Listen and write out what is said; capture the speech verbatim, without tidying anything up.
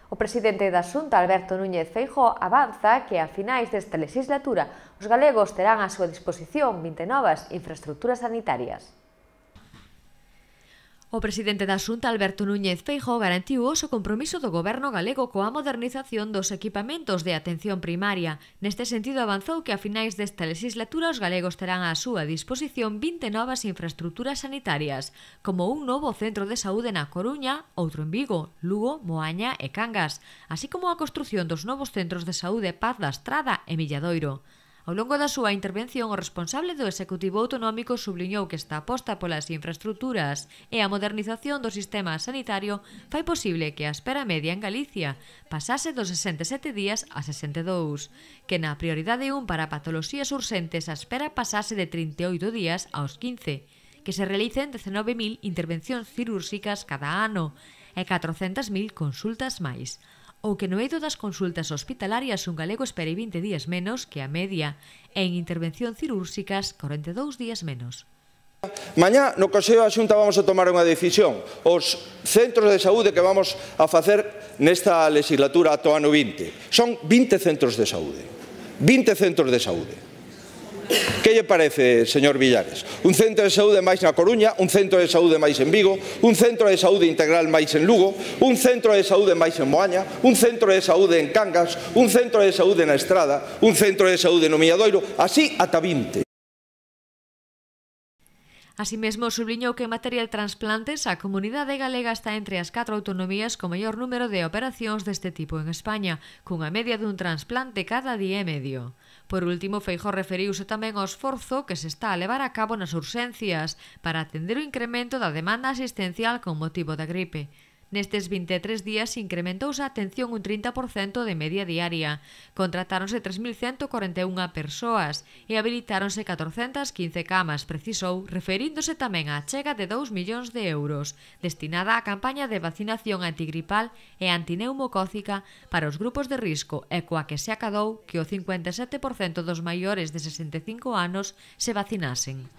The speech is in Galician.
O presidente da Xunta, Alberto Núñez Feijóo, avanza que a finais desta legislatura os galegos terán á súa disposición vinte novas infraestructuras sanitarias. O presidente da Xunta, Alberto Núñez Feijóo, garantiu o seu compromiso do goberno galego coa modernización dos equipamentos de atención primaria. Neste sentido, avanzou que a finais desta legislatura os galegos terán á súa disposición vinte novas infraestructuras sanitarias, como un novo centro de saúde na Coruña, outro en Vigo, Lugo, Moaña e Cangas, así como a construción dos novos centros de saúde Paz da Estrada e Milladoiro. Ao longo da súa intervención, o responsable do Executivo Autonómico subliñou que esta aposta polas infraestructuras e a modernización do sistema sanitario fai posible que a espera media en Galicia pasase dos sesenta e sete días a sesenta e dous, que na prioridade un para patoloxías urxentes a espera pasase de trinta e oito días aos quince, que se realicen dezenove mil intervencións cirúrxicas cada ano e catrocentas mil consultas máis, ou que no eido das consultas hospitalarias un galego espere vinte días menos que a media e en intervención cirúrxicas corenta e dous días menos. Mañá no Consello da Xunta vamos a tomar unha decisión. Os centros de saúde que vamos a facer nesta legislatura ata o ano vinte son vinte centros de saúde. vinte centros de saúde. Que lle parece, señor Villares? Un centro de saúde máis na Coruña, un centro de saúde máis en Vigo, un centro de saúde integral máis en Lugo, un centro de saúde máis en Moaña, un centro de saúde en Cangas, un centro de saúde na Estrada, un centro de saúde no Milladoiro, así ata vinte. Así mesmo, subliñou que en materia de transplantes a comunidade galega está entre as catro autonomías co maior número de operacións deste tipo en España, cunha media dun trasplante cada día e medio. Por último, Feijóo referiuse tamén ao esforzo que se está a levar a cabo nas urxencias para atender o incremento da demanda asistencial con motivo da gripe. Nestes vinte e tres días incrementouse a atención un trinta por cento de media diaria, contratáronse tres mil cento corenta e unha persoas e habilitáronse catrocentas quince camas, precisou, referíndose tamén á achega de dous millóns de euros, destinada á campaña de vacinación antigripal e antineumocócica para os grupos de risco e coa que se acadou que o cincuenta e sete por cento dos maiores de sesenta e cinco anos se vacinasen.